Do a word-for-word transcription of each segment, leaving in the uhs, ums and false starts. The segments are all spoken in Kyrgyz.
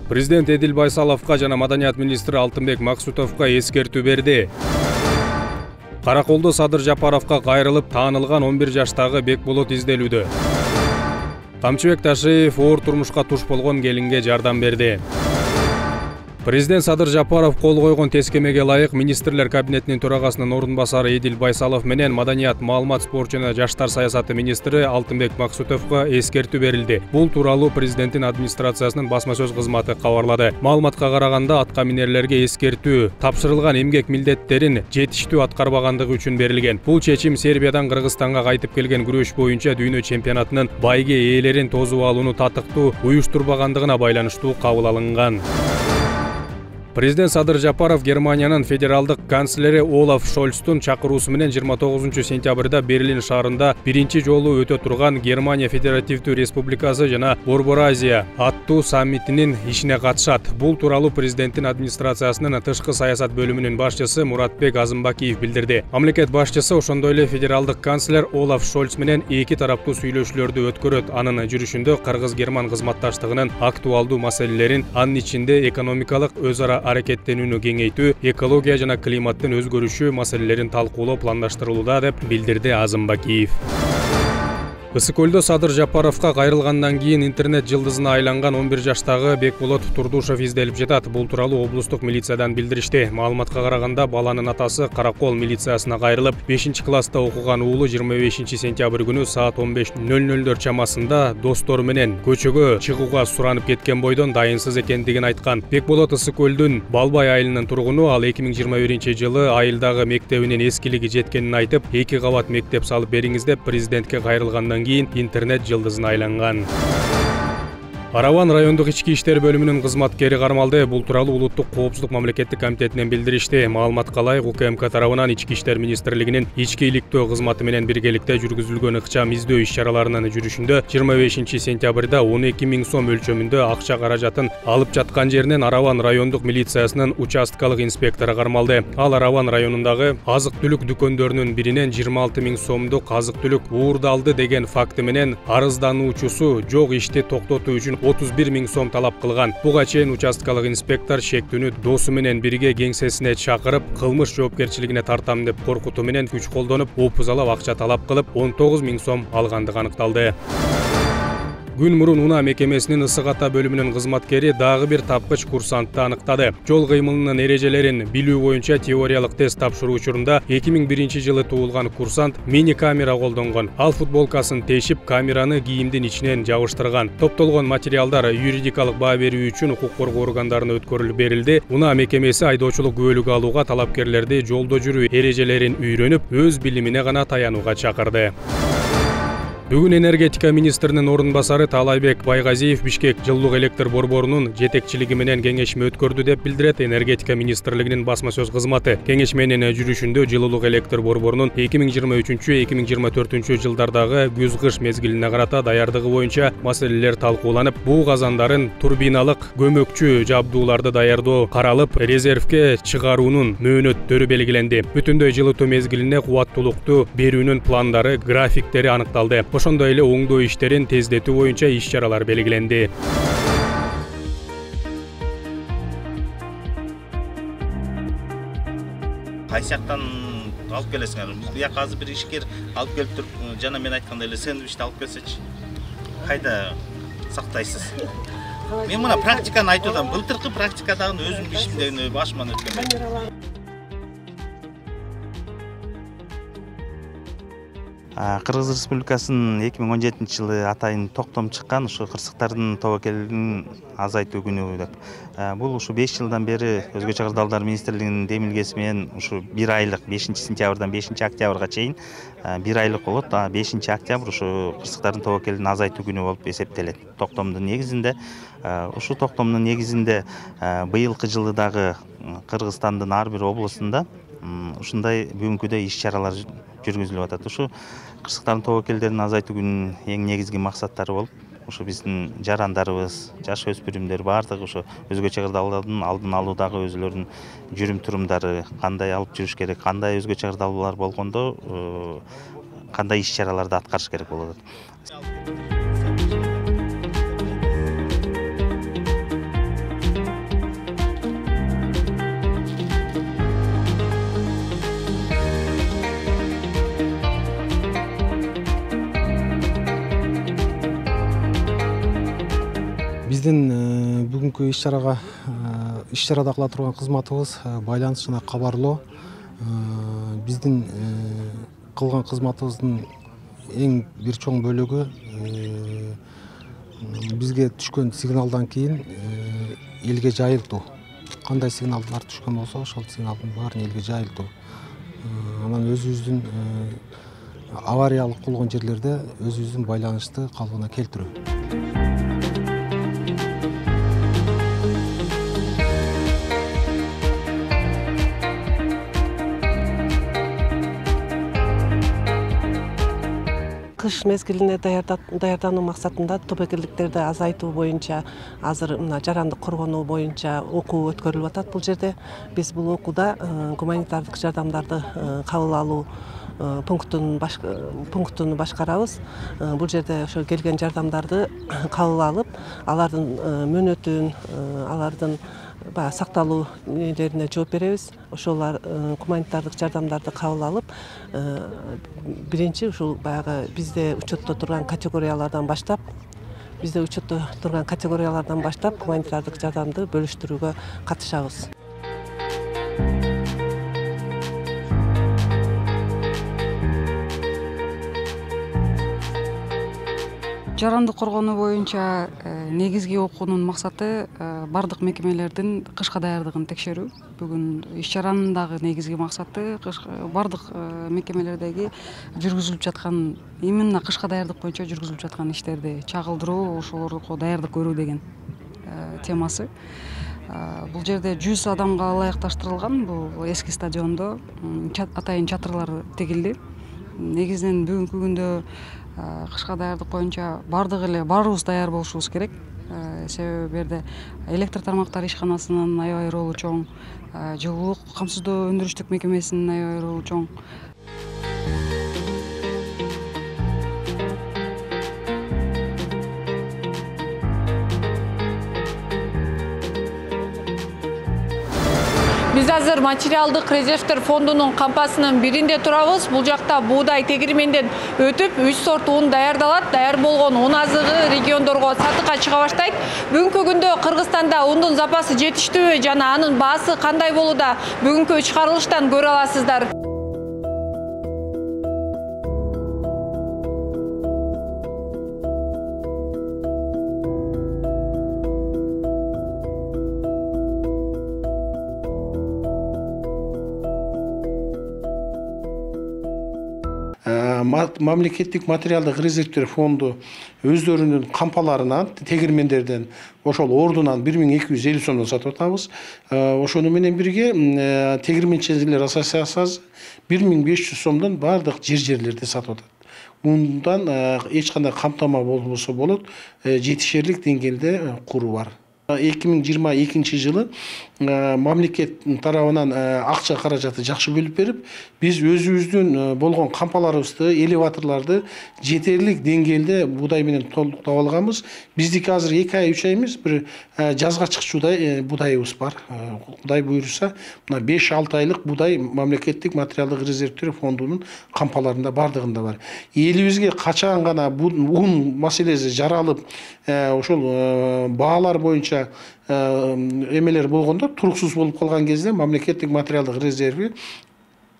Президент Эдил Байсаловго жана Маданият министри Алтынбек Максутовго эскертүү берди. Караколдо Садыр Жапаровго кайрылып таанылган он бир жаштагы Бекболот изделүүдө. Камчыбек Ташиев оор турмушка туш болгон келинге жардам берди. Президент Садыр Жапаров кол койгон тескемеге ылайык министрлер кабинетинин төрагасынын орун басары Эдил Байсалов менен Маданият, маалымат, спорт жана жаштар саясаты министри Алтынбек Максутовго эскертүү берилди. Бул тууралуу президенттин администрациясынын басма сөз кызматы кабарлады. Маалыматка караганда атка минерлерге эскертүү тапшырылган эмгек милдеттерин жетиштүү аткарбагандыгы үчүн берилген. Бул чечим Сербиядан Кыргызстанга кайтып келген күрөш боюнча дүйнө чемпионатынын байге ээлерин тосуп алууну татыктуу уюштурбагандыгына байланыштуу кабыл алынган. Президент Садыр Жапаров Германиянын федералдык канцлери Олаф Шольцтун чакыруусу менен жыйырма тогузунчу сентябрда Берлин шаарында биринчи жолу өтө турган Германия Федеративдүү Республикасы жана Борбор-Азия аттуу саммитинин ишине катышат. Бул тууралуу президенттин администрациясынын тышкы саясат бөлүмүнүн башчысы Муратбек Азымбакиев билдирди. Мамлекет башчысы ошондой эле федералдык канцлер Олаф Шольц менен эки тараптуу сүйлөшүүлөрдү өткөрөт. Анын жүрүшүндө кыргыз-герман кызматташтыгынын актуалдуу маселелерин, анын ичинде экономикалык өз ара аракеттенүүнү кеңейтүү, экология жана климаттын өзгөрүшү маселелерин талкуулоо пландаштырылууда, деп билдирди Азымбакиев. Ысык көлдө Садыр Жапаровго кайрылгандан кийин интернет жылдызына айланган он бир жаштагы Бекболот Турдушев изделип жатат. Бул тууралуу облустук милициядан билдиришти. Маалыматка караганда баланын атасы Каракол милициясына кайрылып, бешинчи класста окуган уулу жыйырма бешинчи сентябрь күнү саат он беш ноль нольдор чамасында достору менен көчөгө чыгууга суранып кеткен бойдон дайынсыз экендигин айткан. Бекболот Ысык көлдүн Балбай айылынын тургуну, ал эки миң жыйырма биринчи жылы айылдагы мектебинин эскилиги жеткенин айтып, эки кабат мектеп салып бериңиз деп президентке кайрылгандан кийин интернет жылдызына айланган. Араван райондук ички иштер бөлүмүнүн кызматкери кармалды. Бул тууралуу Улуттук коопсуздук мамлекеттик комитетинен билдиришти. Маалыматка ылайык, УКМК тарабынан Ички иштер министрлигинин ички иликтөө кызматы менен биргеликте жүргүзүлгөн ыкчам издөө иш-чараларынын жүрүшүндө жыйырма бешинчи сентябрда он эки миң сом өлчөмүндө акча каражатын алып жаткан жеринен Араван райондук милициясынын участкалык инспектору кармалды. Ал Араван районундагы азык-түлүк дүкөндөрүнүн биринен жыйырма алты миң сомдук азык-түлүк уурдалды деген факты менен арыздануучусу жок ишти токтотуу үчүн отуз бир миң сом талап кылган. Буга чейин участкалык инспектор шектүүнү досу менен бирге кеңсесине чакырып, кылмыш жоопкерчилигине тартам деп коркутуу менен күч колдонуп, опузалап акча талап кылып, он тогуз миң сом алгандыгы аныкталды. Күн мурун Унаа мекемесинин Ысык Ата бөлүмүнүн кызматкери дагы бир тапкыч курсантты аныктады. Жол кыймылынын эрежелерин билүү боюнча теориялык тест тапшыруу учурунда эки миң биринчи жылы туулган курсант мини камера колдонгон. Ал футболкасын тешип, камераны кийимдин ичинен жабыштырган. Топтолгон материалдар юридикалык баа берүү үчүн укук коргоо органдарына өткөрүлүп берилди. Унаа мекемеси айдоочулук күбөлүк алууга талапкерлерди жолдо жүрүү эрежелерин үйрөнүп, өз билимине гана таянууга чакырды. Бүгүн энергетика министринин орун басары Таалайбек Байгазиев Бишкек жылуулук электр борборунун жетекчилиги менен кеңешме өткөрдү деп билдирет энергетика министрлигинин басма сөз кызматы. Кеңешменин жүрүшүндө жылуулук электр борборунун эки миң жыйырма үчүнчү эки миң жыйырма төртүнчү жылдардагы күз-кыш мезгилине карата даярдыгы боюнча маселелер талкууланып, буу казандарын турбиналык көмөкчү жабдууларды даярдоо каралып, резервке чыгаруунун мөөнөттөрү белгиленди. Бүтүндөй жылытуу мезгилине кубаттуулукту берүүнүн пландары, графиктери аныкталды. Ошондой эле оңдоо иштерин тездетүү боюнча иш-чаралар белгиленди. Кайсы жактан алып келесиңер? Бияка азыр бир ишкер алып келип туруп, жана мен айткандай эле сэндвичти алып келсечи, кайда сактайсыз? Мен мына практиканы айтып атам. Былтыркы практикадагы өзүм бишимден башыман өткөн. Кыргыз Республикасынын эки миң он жетинчи жылы атайын токтом чыккан ушу кырсыктардын тобокелин азайтуу күнү деп. Бул ушу беш жылдан бери Өзгө чыгардалдар министрлигинин демилгеси менен ушу бир айлык бешинчи сентябрдан бешинчи октябрга чейин бир айлык болот. бешинчи октябрь ушу кырсыктардын тобокелин азайтуу күнү болуп эсептелет. Токтомдун негизинде ушу токтомдун негизинде быйылкы жылы дагы Кыргызстандын ар бир облусунда ушундай бүгүнкүдөй иш-чаралар жүргүзүлүп атат. Ушу кырсыктардын тобокелдерин азайтуу күнүнүн эң негизги максаттары болуп, ушу биздин жарандарыбыз, жаш өспүрүмдөр баардыгы ушу өзгө чыгардалардын алдын алуудагы өзүлөрүнүн жүрүм турумдары кандай алып жүрүш керек, кандай өзгө чыгардалуулар болгондо кандай иш-чараларды аткарыш керек болот. бүгүнкү иш чарага иш чарада кыла турган кызматыбыз байланыш жана кабарлоо. Биздин кылган кызматыбыздын эң бир чоң бөлүгү бизге түшкөн сигналдан кийин элге жайылтуу. Кандай сигналдар түшкөн болсо, ошол сигналдын баарын элге жайылтуу. Анан өзүбүздүн авариялык болгон жерлерде өзүбүздүн байланышты калыбына келтирүү. Кыш мезгилине даярдануу максатында тобокелдиктерди азайтуу боюнча азыр мына жарандык коргонуу боюнча окуу өткөрүлүп атат. Бул жерде биз бул окууда гуманитардык жардамдарды кабыл алуу пунктун пунктуну башкарабыз. Бул жерде ошо келген жардамдарды кабыл алып, алардын мөөнөтүн, алардын баягы сакталуу нелерине жооп беребиз. Ошолар гуманитардык жардамдарды кабыл алып, биринчи ушул баягы бизде учетто турган категориялардан баштап, бизде учетто турган категориялардан баштап гуманитардык жардамды бөлүштүрүүгө катышабыз. Жарандык коргонуу боюнча негизги окуунун максаты бардык мекемелердин кышка даярдыгын текшерүү. Бүгүн иш чаранын дагы негизги максаты бардык мекемелердеги жүргүзүлүп жаткан, именно кышка даярдык боюнча жүргүзүлүп жаткан иштерди чагылдыруу, ошолорго даярдык көрүү деген темасы. Бул жерде жүз адамга ылайыкташтырылган бул эски стадиондо атайын чатырлар тигилди. Негизинен бүгүнкү күндө кышка даярдык боюнча бардык эле баарыбыз даяр болушубуз керек. Себеби бу жерде электр тармактары ишканасынын аябай ролу чоң, жылуулук камсыздоо өндүрүштүк мекемесинин аябай ролу чоң. Биз азыр материалдык резервтер фондунун кампасынын биринде турабыз. Бул жакта буудай тегирменден өтүп, үч сорт ун даярдалат. Даяр болгон ун азыгы региондорго сатыкка чыга баштайт. Бүгүнкү күндө Кыргызстанда ундун запасы жетиштүүбү жана анын баасы кандай болууда? Бүгүнкү чыгарылыштан көрө аласыздар. Мамлекеттик материалдык резервтер фонду өздөрүнүн кампаларынан, тегирмендерден ошол ордунан бир миң эки жүз элүү сомдон сатып атабыз. Ошону менен бирге тегирменчилер ассоциациясы бир миң беш жүз сомдон бардык жер жерлерде сатып атат. Ундан эч кандай камтама болбосо болот, жетишерлик деңгээлде куру бар. эки миң жыйырма экинчи жылы мамлекет тарабынан акча каражаты жакшы бөлүп берип, биз өзүбүздүн болгон кампаларыбызды, элеваторларды жетерлик деңгээлде будай менен толуктап алганбыз. Биздики азыр эки ай, үч ай эмес, бир жазга чыкчудай будайыбыз бар. Кудай буйруса, мына беш алты айлык будай мамлекеттик материалдык резервтер фондунун кампаларында бардыгында бар. Элибизге качан гана ун маселеси жаралып, ошол баалар боюнча эмелер болгондо, туруксуз болуп калган кезде мамлекеттик материалдык резерви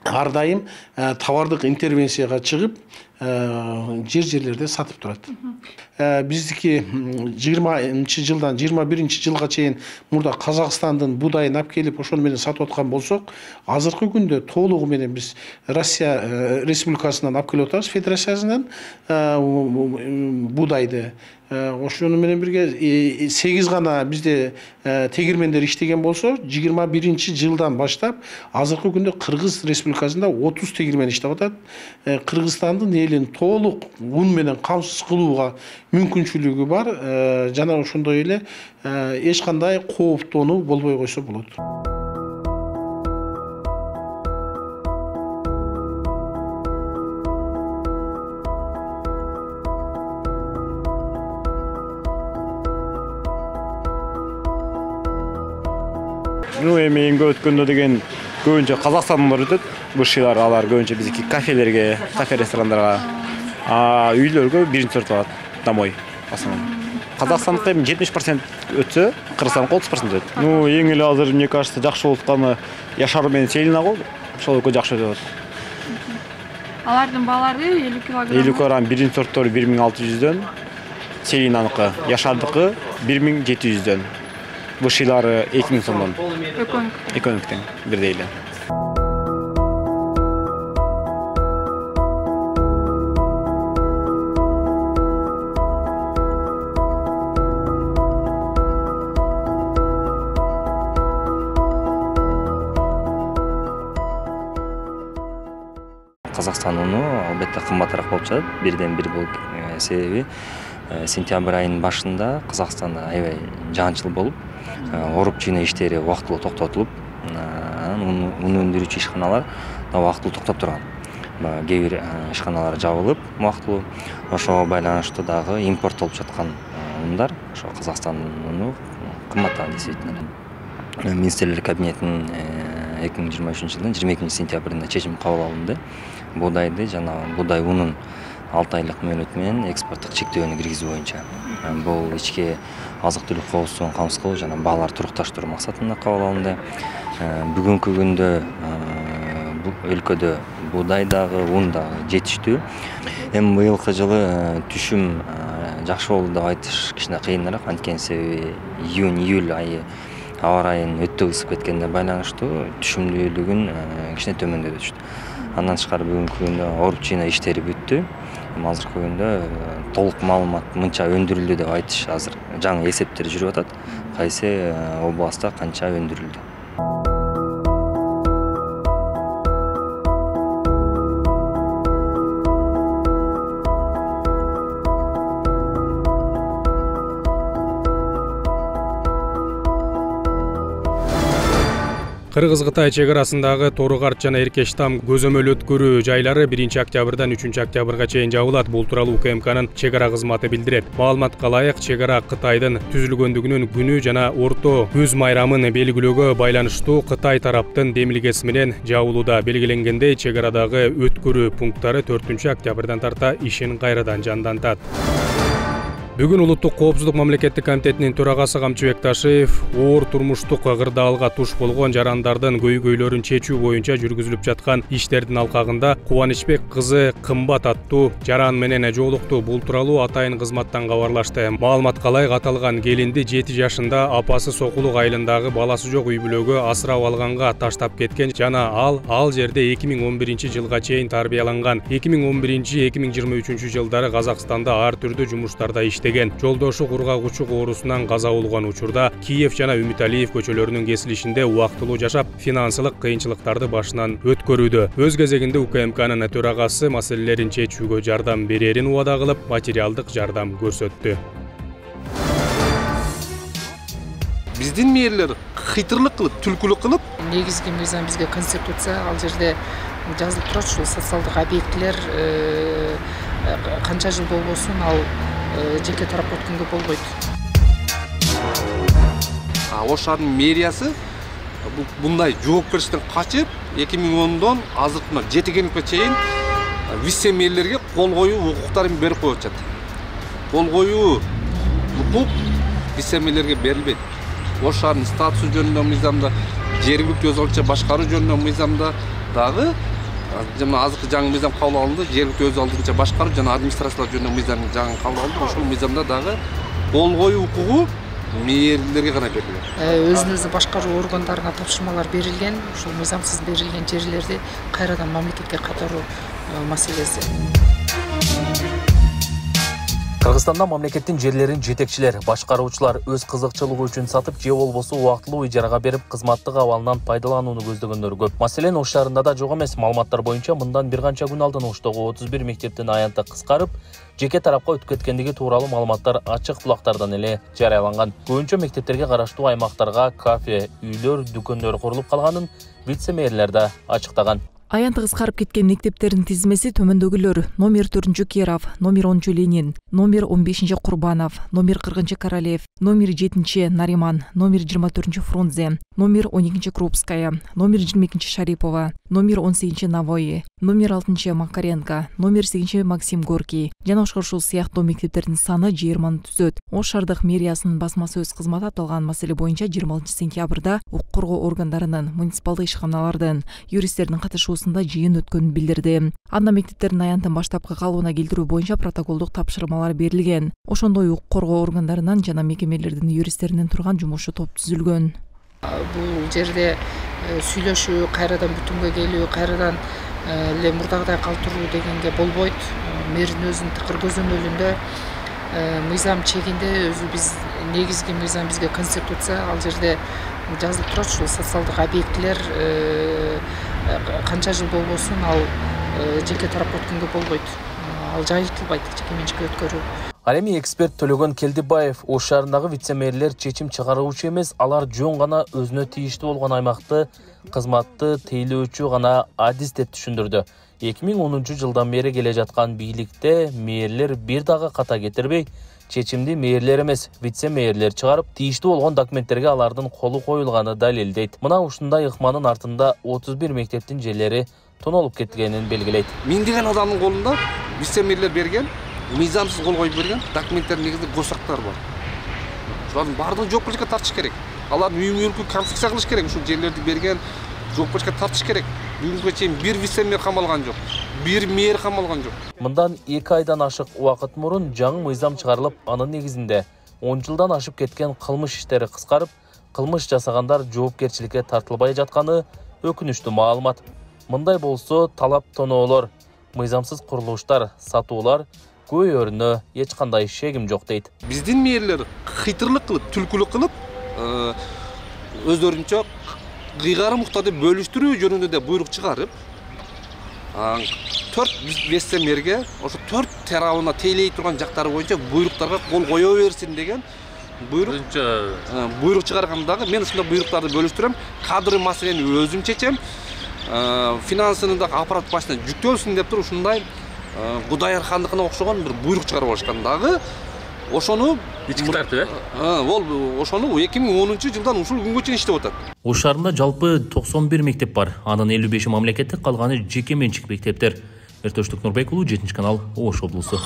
ар дайым товардык интервенцияга чыгып, жер жерлерде сатып турат. Биздики жыйырманчы жылдан жыйырма биринчи жылга чейин мурда Казакстандын будайын алып келип, ошол менен сатып аткан болсок, азыркы күндө толугу менен биз Россия Республикасынан алып келип атабыз, Федерациясынан будайды. Ошону менен бирге сегиз гана бизде тегирмендер иштеген болсо, жыйырма биринчи жылдан баштап азыркы күндө Кыргыз Республикасында отуз тегирмен иштеп атат. Кыргызстандын элин толук ун менен камсыз кылууга мүмкүнчүлүгү бар. Жана ошондой эле эч кандай кооптонуу болбой койсо болот. Ну, эми эмге өткөндө деген көбүнчө Казакстандылар өтөт. Бушилар алар көбүнчө биздики кафелерге, кафе ресторандарга, а үйлөргө биринчи сорт алат, домой, основном. Казакстандыкы эми жетимиш процент өтсө, Кыргызстандыкы отуз процент өтөт. Ну, эң эле азыр мне кажется, жакшы болуп атканы Яшар менен Селина го. Ошол экөө жакшы өтүп атат. Алардын баалары элүү килограмм. элүү килограмм биринчи сорттор бир миң алты жүздөн, Селинаныкы, Яшардыкы бир миң жети жүздөн. Вышилары эки миң сомдон. Экономиктен. Экономиктен бирдей эле. Казакстан уну албетте кымбатыраак болуп жатат. Бирден бир бул себеби сентябрь айынын башында Казакстанда аябай жаанчыл болуп, оруп жыйноо иштери убактылуу токтотулуп, анан ун өндүрүүчү ишканалар да убактылуу токтоп турган. Кээ бир ишканалар жабылып убактылуу. Ошого байланыштуу дагы импорттолуп жаткан ундар, ошо Казакстан уну кымбаттаган действительно. Министрлер кабинетинин эки миң жыйырма үчүнчү жылдын жыйырма экинчи сентябрында чечим кабыл алынды. Буудайды жана буудай унун алты айлык мөөнөт менен экспорттук чектөөнү киргизүү боюнча. Бул ички азык-түлүк коопсуздугун камсыздоо жана бааларды турукташтыруу максатында кабыл алынды. Бүгүнкү күндө бул өлкөдө буудай дагы, ун дагы жетиштүү. Эми быйылкы жылы түшүм жакшы болду деп айтыш кичине кыйыныраак, анткени себеби июнь-июль айы аба ырайынын өтө ысып кеткенине байланыштуу түшүмдүүлүгүн кичине төмөндөтүп түштү. Андан тышкары бүгүнкү күндө оруп жыйноо иштери бүттү. Азыркы күндө толук маалымат мынча өндүрүлдү деп айтыш азыр жаңы эсептер жүрүп атат. Кайсы областта канча өндүрүлдү. Кыргыз-Кытай чек арасындагы Торугарт жана Эркештам көзөмөл өткөрүү жайлары биринчи октябрдан үчүнчү октябрга чейин жабылат. Бул тууралуу УКМКнын чек ара кызматы билдирет. Маалыматка ылайык, чек ара Кытайдын түзүлгөндүгүнүн күнү жана орто күз майрамын белгилөөгө байланыштуу Кытай тараптын демилгеси менен жабылууда. Белгиленгендей, чек арадагы өткөрүү пункттары төртүнчү октябрдан тарта ишин кайрадан жандантат. Бүгүн Улуттук коопсуздук мамлекеттик комитетинин төрагасы Камчыбек Ташиев оор турмуштук кырдаалга туш болгон жарандардын көйгөйлөрүн чечүү боюнча жүргүзүлүп жаткан иштердин алкагында Кубанычбек кызы Кымбат аттуу жаран менен жолукту. Бул тууралуу атайын кызматтан кабарлашты. Маалыматка ылайык, аталган келинди жети жашында апасы Сокулук айылындагы баласы жок үй бүлөгө асырап алганга таштап кеткен жана ал ал жерде эки миң он биринчи жылга чейин тарбияланган. эки миң он биринчи эки миң жыйырма үчүнчү жылдары Казакстанда ар түрдүү жумуштарда иштеген. Жолдошу кургагучу оорусунан каза болгон учурда Киев жана Үмүталиев көчөлөрүнүн кесилишинде убактылуу жашап, финансылык кыйынчылыктарды башынан өткөрүүдө. Өз кезегинде УКМКнын төрагасы маселелерин чечүүгө жардам берерин убада кылып, материалдык жардам көрсөттү. Биздин мэрлер кыйтырлык кылып, түлкүлүк кылып, негизги мыйзам бизге конституция, ал жерде жазылып турат, ушул социалдык объектилер канча жыл болбосун ал жеке тарапка өткөнгө болбойт. Ош шаарынын мэриясы мындай жоопкерчиликтен качып, эки миң ондон азыркы жетигенге чейин вице мэрлерге кол коюу укуктарын берип коюп атат. Кол коюу укук вице мэрлерге берилбейт. Ош шаарынын статусу жөнүндө мыйзамда, жергиликтүү өз алдынча башкаруу жөнүндө мыйзамда дагы жана азыркы жаңы мыйзам кабыл алынды, жергиликтүү өз алдынча башкаруу жана администрациялар жөнүндө мыйзам жаңы кабыл алынды. Ошол мыйзамда дагы кол коюу укугу мэрлерге гана берилген. Өзүн өзү башкаруу органдарына тапшырмалар берилген, ушул мыйзамсыз берилген жерлерди кайрадан мамлекетке кайтаруу маселеси. Кыргызстанда мамлекеттин жерлерин жетекчилер, башкаруучулар өз кызыкчылыгы үчүн сатып же болбосо убактылуу ижарага берип, кызматтык абалынан пайдаланууну көздөгөндөр көп. Маселен, Ош шаарында да жок эмес. Маалыматтар боюнча мындан бир канча күн алдын Оштогу отуз бир мектептин аянты кыскарып, жеке тарапка өтүп кеткендиги тууралуу маалыматтар ачык булактардан эле жарыяланган. Көбүнчө мектептерге караштуу аймактарга кафе, үйлөр, дүкөндөр курулуп калганын вице-мэрлер да ачыктаган. Аянты кыскарып кеткен мектептердин тизмеси төмөндөгүлөр: номер төртүнчү Керов, номер онунчу Ленин, номер он бешинчи Курбанов, номер кыркынчы Королев, номер жетинчи Нариман, номер жыйырма төртүнчү Фрунзе, номер он экинчи Крупская, номер жыйырма экинчи Шарипова, номер он сегизинчи Навои, номер алтынчы Макаренко, номер сегизинчи Максим Горький жана ошол сыяктуу мектептердин саны жыйырманы түзөт. Ош шаардык мэриясынын басма сөз кызматы аталган маселе боюнча жыйырма алтынчы сентябрда укук коргоо органдарынын, муниципалдык ишканалардын, юристтердин катышуусунда жыйын өткөнүн билдирди. Анда мектептердин аянтын баштапкы калыбына келтирүү боюнча протоколдук тапшырмалар берилген. Ошондой укук коргоо органдарынан жана мекемелердин юристтеринен турган жумушчу топ түзүлгөн. Бул жерде сүйлөшүү, кайрадан бүтүнгө келүү, кайрадан эле мурдагыдай калтыруу дегенге болбойт. Мэрдин өзүнүн тыкыр көзөмөлүндө мыйзам чегинде өзү биз негизги мыйзам бизге конституция, ал жерде жазылып турат, ушул социалдык объектилер канча жыл болбосун ал жеке тарапка өткөнгө болбойт. Ал жайылтылбайт жеке менчикке өткөрүү. Ал эми эксперт Төлөгөн Келдибаев Ош шаарындагы вице-мэрлер чечим чыгаруучу эмес, алар жөн гана өзүнө тийиштүү болгон аймакты кызматты тейлөөчү гана адис деп түшүндүрдү. эки миң онунчу жылдан бери келе жаткан бийликте мэрлер бир дагы ката кетирбей, чечимди мэрлер эмес, вице-мэрлер чыгарып, тийиштүү болгон документтерге алардын колу коюлганы далилдейт. Мына ушундай ыкманын артында отуз бир мектептин жерлери тонолуп кеткенин белгилейт. Миңдеген адамдын колунда вице-мэрлер берген, мыйзамсыз кол коюп берген документтердин негизинде госактар бар. Шулардын баардыгын жоопкерчиликке тартыш керек. Алардын үй мүлкүн конфискация кылыш керек. Ушул жерлерди берген жоопкерчиликке тартыш керек. Бүгүнкү чейин бир вице-мэр камалган жок, бир мэр камалган жок. Мындан эки айдан ашык убакыт мурун жаңы мыйзам чыгарылып, анын негизинде он жылдан ашып кеткен кылмыш иштери кыскарып, кылмыш жасагандар жоопкерчиликке тартылбай жатканы өкүнүчтүү маалымат. Мындай болсо талап тоноолор, мыйзамсыз курулуштар, сатуулар көйөрүнө эч кандай шегим жок дейт. Биздин мэрлер кыйтырлык кылып, түлкүлүк кылып, өздөрүнчө кыйгары муктарды бөлүштүрүү жөнүндө да буйрук чыгарып, төрт вице-мэрге ошо төрт тарабына тейлей турган жактары боюнча буйруктарга кол кое берсин деген буйрук буйрук чыгаргандагы мен ушундай буйруктарды бөлүштүрөм. Кадрлый маселени өзүм чечем. Финансыны да аппарат башына жүктөлсүн деп туруп ушундай Кудайыр хандыкына окшогон бир буйрук чыгарып алышкан дагы. Ошону ички тартып, э? Ол ошону эки миң онунчу жылдан ушул күнгө чейин иштеп атат. Ош шаарында жалпы токсон бир мектеп бар. Анын элүү беши мамлекеттик, калганы жеке менчик мектептер. Эртөштүк Нурбек уулу, жетинчи канал, Ош облусу.